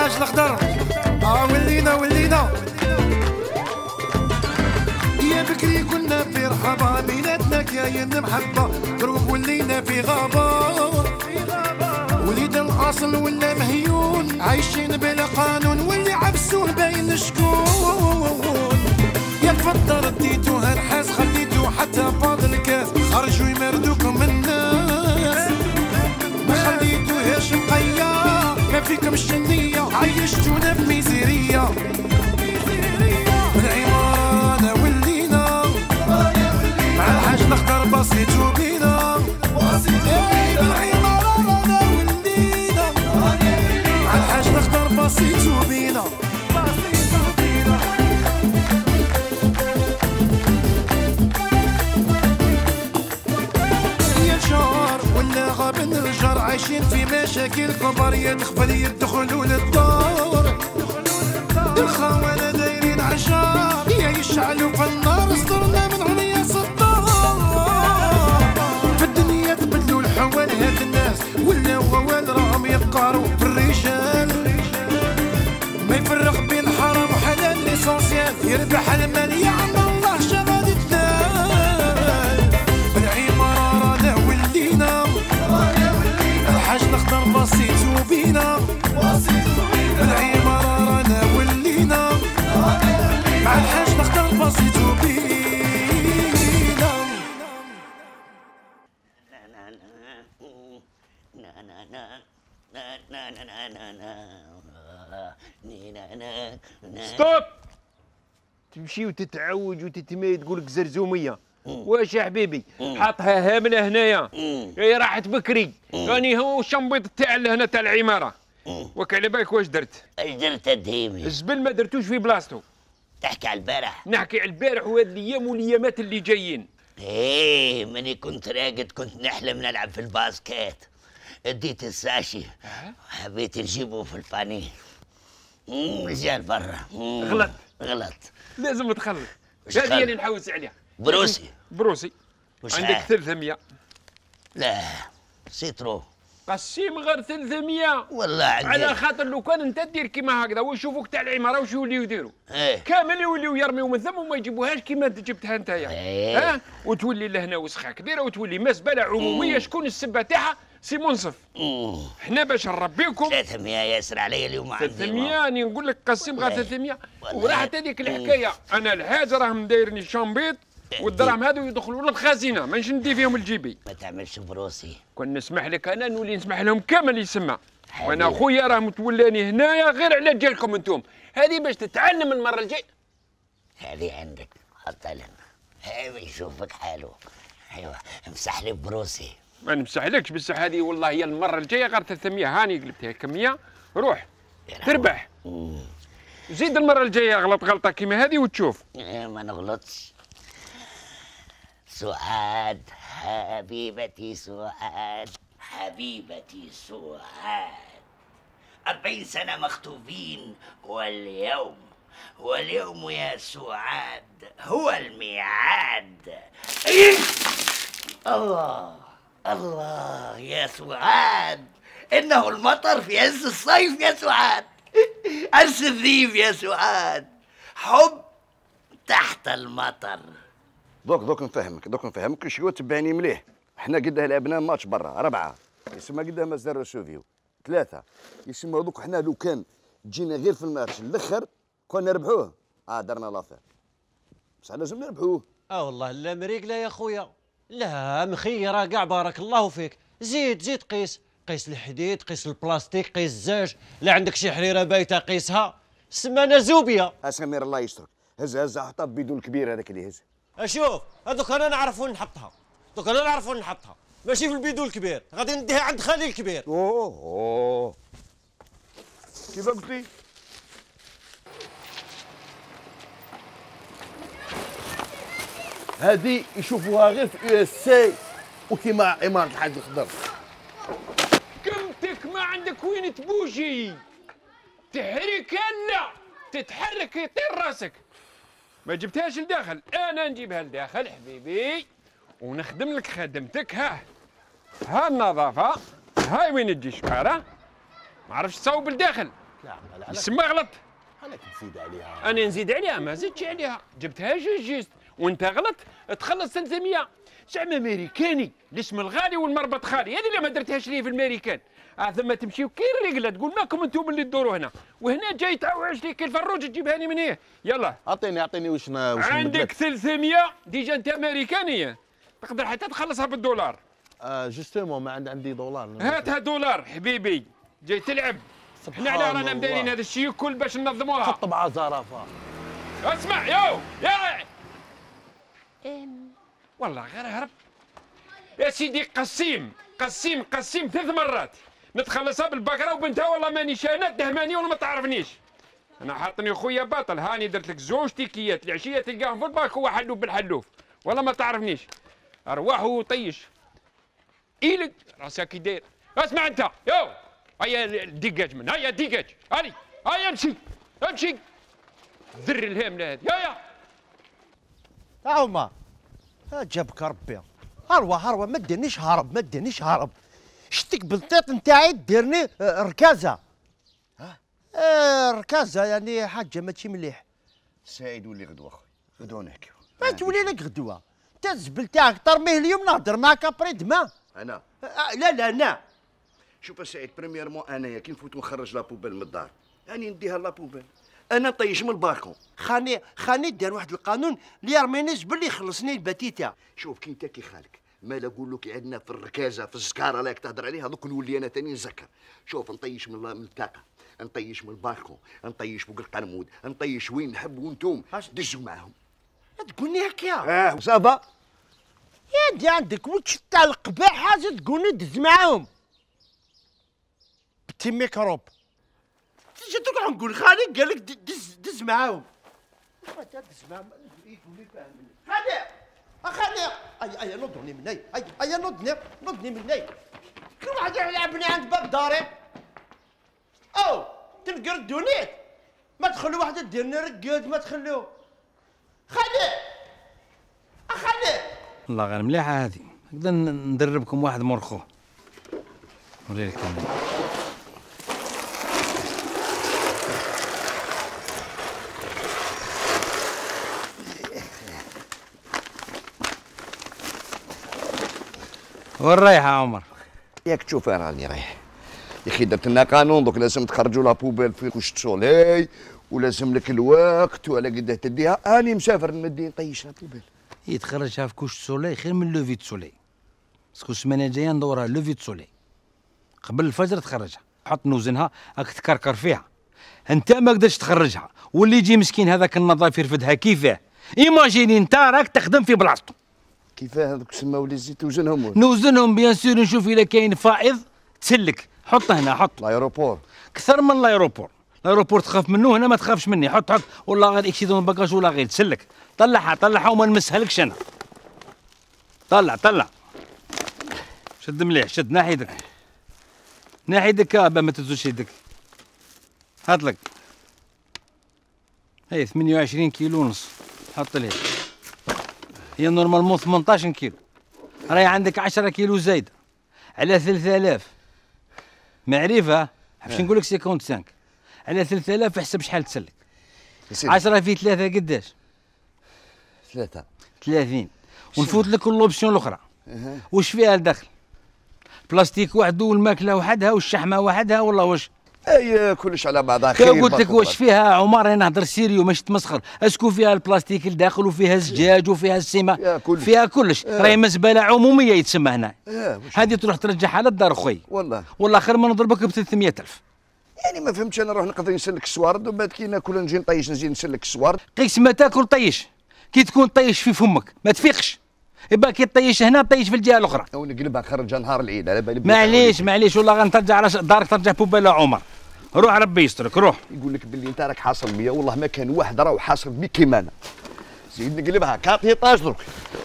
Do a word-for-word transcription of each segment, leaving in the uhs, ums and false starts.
الحاج الخضر. اه ولينا ولينا يا بكري كنا في رحابة بيناتنا كاين محبة، دروك ولينا في غابة. وليد الاصل ولا مهيون عايشين بلا قانون، واللي عفسوه باين شكون. يا تفضل رديتوها نحاس خليتو حتى فاضل الكاس، خرجوا يمردوكم الناس ما خليتوهاش نقية. ما فيكمش النية عيشتونا بميزيرية. بالعمارة انا ولينا مع الحاج الخضر بسيطو بينا. بالعمارة انا ولينا مع الحاج الخضر بسيطو بينا. ولا غاب الرجال عايشين في مشاكل كبار، يدخل يدخلوا للدار. الخوانا دايرين عشار يا يشعلوا في النار، صدرنا من عرياس الدار. في الدنيا تبدلوا الحوال هاد الناس، ولا ووال راهم يفقروا في الرجال. ما يفرق بين حرام وحلال ليسونسيال، يربح المال يعمل الله شغال الدال. بالعمارة انا ولينا الحاج الخضر بسيطو بينا. بالعمارة انا ولينا مع الحاج الخضر بسيطو بينا. ستوب. تمشي وتتعوج وتتميد تقول لك زرزوميه. واش يا حبيبي حاطها هامله هنايا، هي راحت بكري. راني هو الشنبيط تاع هنا تاع العماره. وك على بالك واش درت؟ اش درت الدهيمي؟ الزبل ما درتوش في بلاصتو. تحكي على البارح؟ نحكي على البارح وهاد الايام والايامات اللي جايين. ايه ماني كنت راقد كنت نحلم نلعب في الباسكيت، اديت الساشي حبيت نجيبه في الباني. رجال برا. غلط غلط لازم تخلط. هذه اللي نحوس عليها. بروسي بروسي عندك ثلاثمية. لا سيترو قسيم غير ثلاثمية والله عندي. على خاطر لو كان انت دير كيما هكذا ويشوفوك تاع العماره واش يوليو يديروا؟ ايه كامل يوليو يرميو من ثم وما يجيبوهاش كيما انت جبتها نتايا. ايه ها وتولي لهنا وسخه كبيره وتولي مزبله عموميه. شكون السبه تاعها؟ سي منصف. حنا باش نربيكم ثلاثمية ياسر عليا اليوم عندي ثلاثمية. راني نقول لك قسيم غير ثلاثمية. وراحت هذيك الحكايه. انا الحاج راهم دايرني الشامبيط والدراهم هذو يدخلوا للخزينه مانيش ندي فيهم الجيبي. ما تعملش بروسي. كون نسمح لك انا نولي نسمح لهم كامل يسمى. وانا خويا راه متولاني هنايا غير على جالكم انتم. هذه باش تتعلم المره الجايه. هذه عندك حطها لنا. هذه يشوفك حاله. ايوا امسح لي بروسي. ما نمسحلكش بصح هذه والله هي المره الجايه غير ثلاثمية. هاني قلبتها كمية روح تربح. زيد المره الجايه غلط غلطه كيما هذه وتشوف. ما نغلطش. سعاد حبيبتي سعاد حبيبتي سعاد، أربعين سنة مخطوبين واليوم واليوم يا سعاد هو الميعاد. الله الله يا سعاد، إنه المطر في عز الصيف يا سعاد، عز الذيب يا سعاد، حب تحت المطر. دوك دوك نفهمك دوك نفهمك شكون تبعني مليح. حنا قدها لعبنا ماتش برا أربعة يسمى قدها مازال سوفيو ثلاثة يسمى دوك. حنا لو كان جينا غير في الماتش الاخر كنا نربحوه. اه درنا لافير بصح لازم نربحوه. اه والله لا مريق لا يا خويا. لا مخيره كاع بارك الله فيك. زيد زيد قيس قيس الحديد قيس البلاستيك قيس الزاج. لا عندك شي حريره بايته قيسها. سمانا زوبيه. اسمير الله يسترك. هز هز حطها ببيدون الكبير هذاك اللي هز. اشوف هذوك انا نعرف وين نحطها. دوك انا نعرف وين نحطها ماشي في البيدون الكبير. غادي نديها عند خالي الكبير. اوه اوه كيف قلت لي؟ هذه يشوفوها غير في يو اس سي وكيما عمارة الحاج الخضر. كمتك ما عندك وين تبوجي. تحرك لا تتحرك يطير راسك. ما جبتهاش لداخل، انا نجيبها لداخل حبيبي ونخدم لك خدمتك. ها ها النظافه. هاي وين تجي الشقاره. ما عرفتش تصوب لداخل لا عقل يسمى غلط. عليك تزيد عليها. انا نزيد عليها ما زدتش عليها، جبتها جوج جيست وانت غلط تخلص ثلاثمية. زعما امريكاني الاسم الغالي والمربط خالي، هذه اللي ما درتهاش لي في الامريكان. اه ثم تمشيو كي الرجله تقول ماكم انتم اللي تدوروا هنا، وهنا جاي تعوج لي كي الفروج تجيبها لي من هنا. يلا اعطيني اعطيني واش واش عندك ثلاثمية ديجا انت امريكانيه، تقدر حتى تخلصها بالدولار. آه جوستومون ما عندي عندي دولار. هاتها دولار حبيبي، جاي تلعب. حنا على رانا مدايرين هذا الشيء الكل باش ننظموها. حط مع زرافه. اسمع يو يا والله غير هرب يا سيدي. قسيم قسيم قسيم ثلاث مرات نتخلصها بالبقره وبنتها، والله ماني شانات دهماني ولا ما تعرفنيش. انا حاطني خويا باطل، هاني درت لك زوج تيكيات العشيه تلقاهم في الباك، هو حلوف بالحلوف والله ما تعرفنيش. ارواح وطيش ايلك راسك كي داير. اسمع انت يو هيا الدقاج من هيا الدقاج هاني هيا امشي امشي ذر الهامله هذه هيا. عمر جابك ربي. هروا هروا ما ديرنيش هرب ما ديرنيش هرب. شتك بالطيط نتاعي ديرني ركازه. ها آه ركازه يعني حاجه ماشي مليح. سعيد ولي غدوه اخويا، غدوه نحكيو. ما تولي لك غدوه انت الزبل تاعك ترميه اليوم نهضر معاك ابري دما. انا آه لا لا انا شوف سعيد، بريميرمون انايا كي نفوت ونخرج لابوبيل من الدار راني نديها لابوبيل، انا طيش من البالكون. خاني خاني دار واحد القانون اللي يرميني الزبل يخلصني البتيته. شوف كي انت كي خالك ما نقول لك عندنا في الركازه في الزكاره لاك تهضر عليها، دوك نولي انا ثاني نزكر. شوف نطيش من من الطاقه، نطيش من البالكون، نطيش فوق القرمود، نطيش وين نحب وانتم دزوا معاهم. تقولني هكا اه صافا يا انت عندك وش تاع القباح حاجه تقولني دز معاهم بتي ميكروب. تجي تقعد نقول خالي قال لك دز دز معاهم. دز معاهم يقول لي فاهم خالي اخالي. اي اي نضني مني اي اي نضني نضني مني. كل واحد يلعبني عند باب داري. او تنقردوني ما تخلوا واحده ديرني رقاد ما تخلوه. خالي اخالي والله غير مليحه هذه. نقدر ندربكم واحد مرخو نوريلك انا. وين رايحه عمر؟ ياك تشوف انا راني رايح يا اخي. درت لنا قانون دوك لازم تخرجوا لابوبيل في كوش سولي ولازم لك الوقت وعلى قداه تديها. اني مسافر نمدي نطيش لابوبيل. هي تخرجها في كوش سولي خير من لوفي سولي. باسكو السمانه الجايه ندورها لوفي سولي قبل الفجر تخرجها. حط نوزنها راك تكركر فيها. انت ما قدرتش تخرجها واللي يجي مسكين هذاك النظاف يرفدها كيفاه. ايماجيني انت راك تخدم في بلاصتو. كيفاه هذوك سماو لي زيت توزنهم؟ نوزنهم بيان سور نشوف اذا كاين فائض تسلك. حط هنا حط لايروبور كثر من لايروبور. لايروبور تخاف منه هنا ما تخافش مني. حط حط والله غير اكسيدون باكاج ولا غير تسلك. طلعها طلعها وما نمسهالكش انا. طلع طلع شد مليح شد. ناحي يدك ناحي يدك با ما تزوجش يدك. هات لك هي ثمانية وعشرين كيلو ونص. حط لي هي نورمالمون ثمنطاش كيلو. راهي عندك عشرة كيلو زايده على ثلاثة آلاف. معرفه باش نقول لك خمسة وخمسين على ثلاثة آلاف. احسب شحال تسلك. عشرة في ثلاثة قداش؟ ثلاثة ثلاثين. ونفوت لك اللوبسيون الاخرى. واش فيها الدخل؟ بلاستيك وحده والماكله وحدها والشحمه وحدها والله واش. اي كلش على بعضها خير. قلت لك واش فيها عمر. انا نهضر سيريو ماشي تمسخر. اسكو فيها البلاستيك الداخل وفيها الزجاج وفيها السيما كلش. فيها كلش. آه. راهي مزبله عموميه يتسمى هنا. آه. هذه تروح ترجعها للدار خويا. والله والله خير ما نضربك ب ثلاثمية ألف. يعني ما فهمتش. انا نروح نقدر نسلك السوارد ومن بعد كي ناكل نجي نطيش نجي نسلك السوارد. قيس ما تاكل طيش. كي تكون طيش في فمك ما تفيقش. يبقى كي طيش هنا طيش في الجهه الاخرى. او نقلبها نخرجها نهار العيد على بالي. معليش معليش والله غنترجع على دارك ترجع بوبالا عمر. روح ربي يسترك روح. يقول لك باللي انت راك حاصل مية والله ما كان واحد راه حاصل بك كيما انا. زيد نقلبها كابيطاج درك.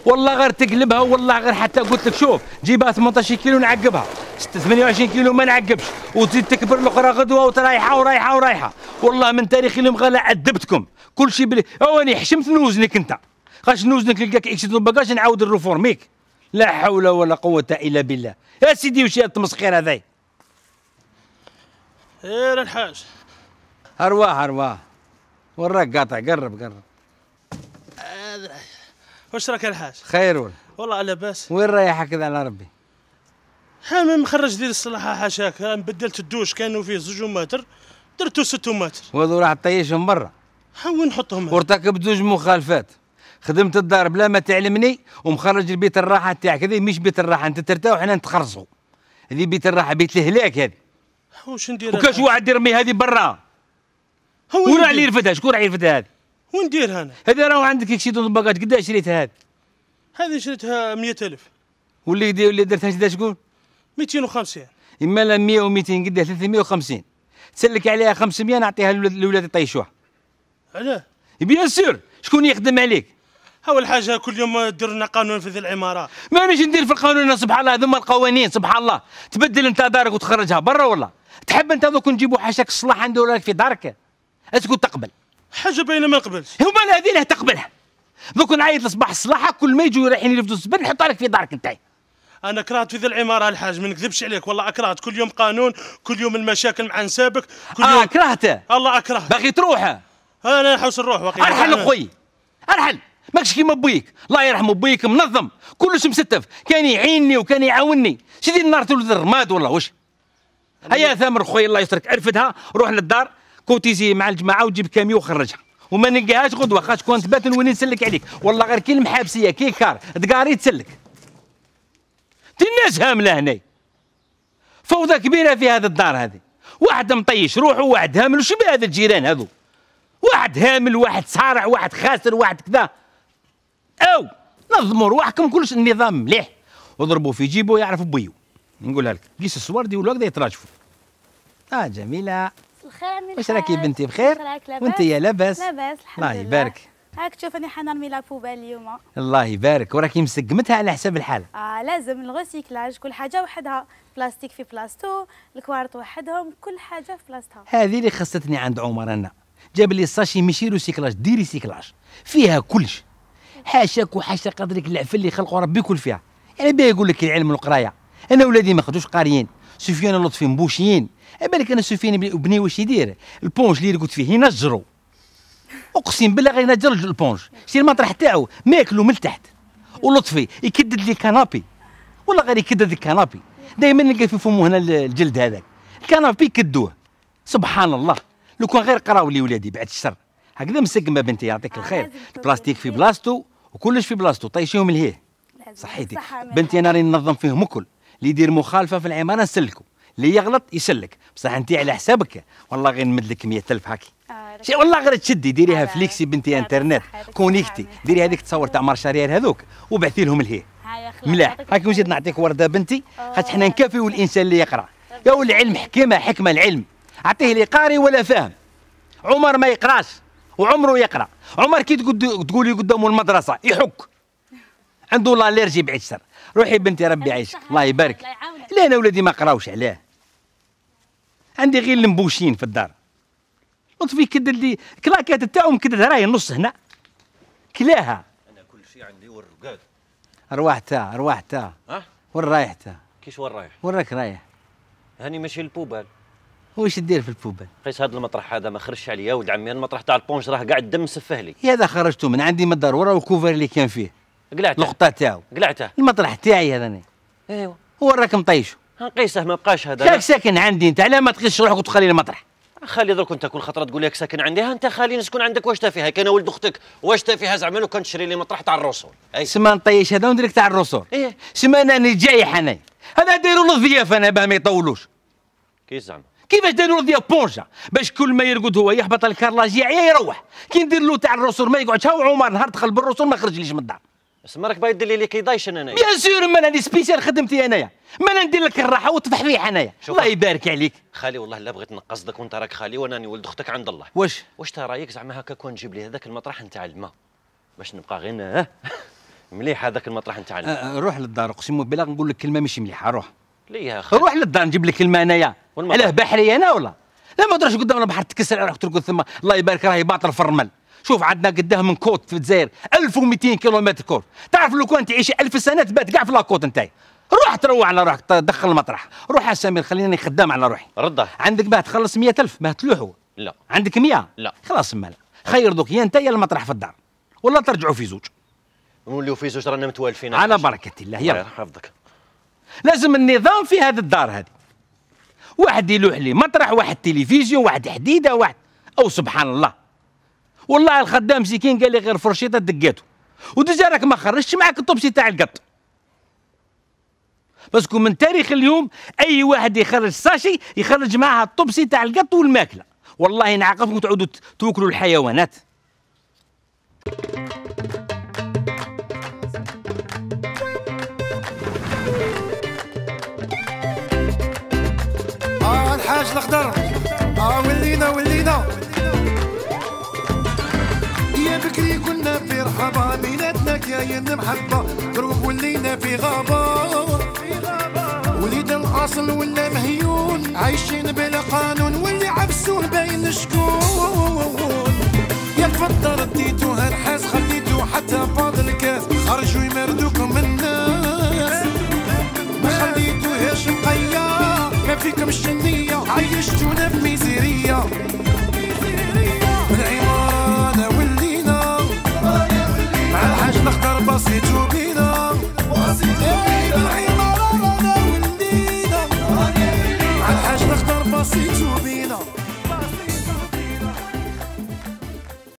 والله غير تقلبها والله غير حتى قلت لك شوف جيبها ثمنطاش كيلو نعقبها. ثمانية وعشرين كيلو ما نعقبش وتزيد تكبر الاخرى غدوه وترايحه ورايحه ورايحه. والله من تاريخ اليوم غير عذبتكم كل شيء بلي. اواني حشمت نوزنك انت. خاش نوزنك نلقاك اكسيدون باكاج نعاود نروفورميك. لا حول ولا قوه الا بالله. يا سيدي وش هذا التمسخير هذا؟ خير الحاج ارواح ارواح وراك قاطع قرب قرب. واش راك الحاج؟ خير ولا؟ والله لاباس. وين رايح هكذا على ربي؟ ها مخرج ديال الصلاحه حاشاك، بدلت الدوش كانوا فيه زوج متر درتو ست متر. وهذو راح تطيشهم برا. ها وين نحطهم؟ وارتكبت زوج مخالفات. خدمت الدار بلا ما تعلمني ومخرج البيت الراحه تاعك. هذه مش بيت الراحه، انت ترتاح وحنا نتخرصوا. هذه بيت الراحه، بيت الهلاك هذه. واش ندير؟ وكاش واحد يرمي هذه برا. وين راح اللي يرفدها؟ شكون راح يرفدها هذه؟ وين نديرها انا؟ هذه راهو عندك كشي دون باكاج. قداش شريتها هذه؟ هذه شريتها مية ألف. واللي دي واللي درتها شدا شكون؟ ميتين وخمسين. إما لا مية وميتين قداه ثلاثمية وخمسين. تسلك عليها خمسمية نعطيها للولاد يطيشوها. علاه؟ بيان سور. شكون يخدم عليك؟ اول حاجه كل يوم دير لنا قانون في ذي العماره. مانيش ندير في القانون. سبحان الله هذوما القوانين. سبحان الله تبدل انت دارك وتخرجها برا ولا تحب انت دوك نجيبوا حاشاك الصلاح عنده ولا في دارك؟ اسكو تقبل؟ حاجه باينه ما نقبلش. هما هذه اللي تقبلها. دوك نعيط لصباح الصلاحه كل ما يجوا رايحين يرفدوا الزبل نحطها لك في دارك انت. انا كرهت في ذي العماره الحاج، ما نكذبش عليك والله اكرهت. كل يوم قانون، كل يوم المشاكل مع نسابك، كل يوم اه كرهته. الله اكره. باغي تروح؟ انا نحوس نروح واقيلا. ارحل خويا ارحل. ماكش كيما بويك، الله يرحم بويك منظم كلش مستف، كان يعيني وكان يعاوني. سيدي النار تولد الرماد والله واش. هيا ثامر خويا الله يسترك ارفدها روح للدار كوتيزي مع الجماعه وتجيب كاميو وخرجها وما نلقاهاش غدوه خاطر كون تبات وين نسلك عليك والله غير كي المحابسيه كي كار دقاري تسلك. تي الناس هامله هنا فوضى كبيره في هذا الدار هذه. واحد مطيش روحه وواحد هامل. وش بهذا الجيران هذو؟ واحد هامل واحد صارع واحد خاسر واحد كذا. او نظموا رواحكم كلش النظام مليح وضربوا في جيبه يعرف بويو. نقولها لك قيس الصور دي ولا هكذا يتراجفوا. اه جميله الخير عمي. واش راكي بنتي بخير؟ وانت يا لاباس؟ لاباس الحمد الله لله. يبارك. هاك تشوف اني حنرمي لا بوبال اليوم. الله يبارك. وراكي مسقمتها على حساب الحاله. اه لازم الغوسيكلاج كل حاجه وحدها. بلاستيك في بلاصتو، الكوارط وحدهم، كل حاجه في بلاصتها. هذه اللي خصتني عند عمر انا. جاب لي الساشي ماشي ريسيكلاج دي ريسيكلاج فيها كلش. حاشاك وحاشا قدرك العفن اللي خلقوا ربي يكون فيها. يعني باه يقول لك العلم والقرايه. انا ولادي ما خدوش قاريين. سفيان لطفي مبوشيين. بالك انا سفيان بني واش يدير؟ البونج اللي يرقد فيه ينجروا. اقسم بالله غير ينجر البونج. شتي المطرح تاعو ماكلو من تحت. ولطفي يكدد لي كنابي. والله غير يكدد الكنابي. دائما نلقى في فمه هنا الجلد هذاك. الكنابي يكدوه. سبحان الله. لو كان غير قراو لي ولادي بعد الشر. هكذا مسقمه بنتي يعطيك الخير. البلاستيك في بلاصتو وكلش في بلاصتو. طيشيهم لهيه. صحيتي بنتي انا راني ننظم فيهم الكل. اللي يدير مخالفه في العماره نسلكو. اللي يغلط يسلك. بصح انت على حسابك والله غير نمد لك مية ألف هاكي. شي والله غير تشدي ديريها فليكسي بنتي انترنت كونيكتي. ديري هذيك تصور تاع مارشاريال هذوك وبعثي لهم لهيه. ملاح هاكي نزيد نعطيك ورده بنتي خاطر حنا نكافيو الانسان اللي يقرا. يا العلم حكمه حكمه العلم. اعطيه لي قاري ولا فاهم. عمر ما يقراش وعمره يقرا. عمر كي تقولي قدامه المدرسه يحك عنده لاليرجي بعيد الشر. روحي بنتي ربي يعيشك الله يبارك. لا انا ولادي ما قراوش علاه. عندي غير المبوشين في الدار. لطفي كدد لي كلاكات تاعهم كدد راهي النص هنا كلاها. انا كل شيء عندي والرقاد. ارواح تاع ارواح تاع ها وين رايح تاع؟ كيش وين رايح؟ وين راك رايح؟ هاني ماشي للبوبال. واش دير في البوبال؟ قيس هذا المطرح هذا ما خرجش عليا يا ولد عمي. المطرح تاع البونج راه قاعد دم سفه لي. هذا خرجته من عندي من الدار ورا الكوفر اللي كان فيه. قلعته القطه تاعو. قلعته. المطرح تاعي هذا. ايوا هو راك مطيشه. قيسه ما بقاش هذا. شاك ساكن عندي انت علاه ما تقيسش روحك وتخلي المطرح؟ خلي درك انت كل خطره تقول لك ساكن عندي. ها انت خليني نسكن عندك واش تافيها. كان ولد اختك واش تافيها زعما لو كان تشري لي مطرح تاع الرسول. اي سما نطيش هذا ونديرك تاع الرسول. ايه سما انا جايح انا. هذا دايروا له الضيافه انا باه ما يطولوش. كيف زعما؟ كيفاش دايروا له ضياف بونجا باش كل ما يرقد هو يهبط الكارلاج يعيا يروح. كي ندير له تاع الرسول ما يقعدش. هاو عمر نهار دخل بالرسول ما خرجليش من الدار. اسما راك باغي دير لي اللي كيضايش انا. بيان سور ما انا سبيسيال خدمتي انايا. ما انا ندير لك الراحه والتفحفيح انايا. الله يبارك عليك. خالي والله لا بغيت نقصدك وانت راك خالي وانا ولد اختك عند الله. واش واش تا رايك زعما هكا كون نجيب لي هذاك المطرح نتاع الماء باش نبقى غير مليح هذاك المطرح نتاع الماء. أه روح للدار اقسم بالله نقول لك كلمه ماشي مليحه. روح ليه يا خالي؟ روح للدار نجيب لك الماء انايا. علاه بحري انا ولا لا ما تروحش قدام البحر تكسر روحك ترقد ثم. الله يبارك راهي باطل في الرمل. شوف عندنا قداه من كوت في الجزائر ألف ومئتين كيلومتر كور. تعرف لو كان تعيش ألف سنه تبات كاع في لاكوت نتاعي. روح تروح على روحك دخل المطرح. روح يا سمير خليني خدام على روحي. رده عندك باه تخلص مية ألف باه تلوحوا. لا. عندك مية؟ لا. خلاص مالا، خير دوك يا انت يا المطرح في الدار، ولا ترجعوا في زوج. نوليو في زوج رانا متوالفين. على بركة الله. يلا حفظك. لازم النظام في هذه الدار هذه. واحد يلوح لي مطرح، واحد تلفزيون، واحد حديده، واحد او سبحان الله. والله الخدام مسكين قال لي غير فرشيطه دقاته، وديجا راك ما خرجتش معاك الطوبسي تاع القط. باسكو من تاريخ اليوم اي واحد يخرج ساشي يخرج معها الطوبسي تاع القط والماكله، والله نعاقبكم تعودوا توكلوا الحيوانات. اه الحاج الاخضر، اه ولينا ولينا يا بكري كنا في رحبة، بيناتنا كاين محبة، دروب ولينا في غابة، وليد الاصل ولا مهيون، عايشين بلا قانون، واللي عفسوه باين شكون. يا تفضل رديتوها نحاس، خليتو حتى فاض الكاس، خرجوا يمردوكم الناس، ما خليتوهاش نقيا، ما فيكمش النية، عيشتونا بمية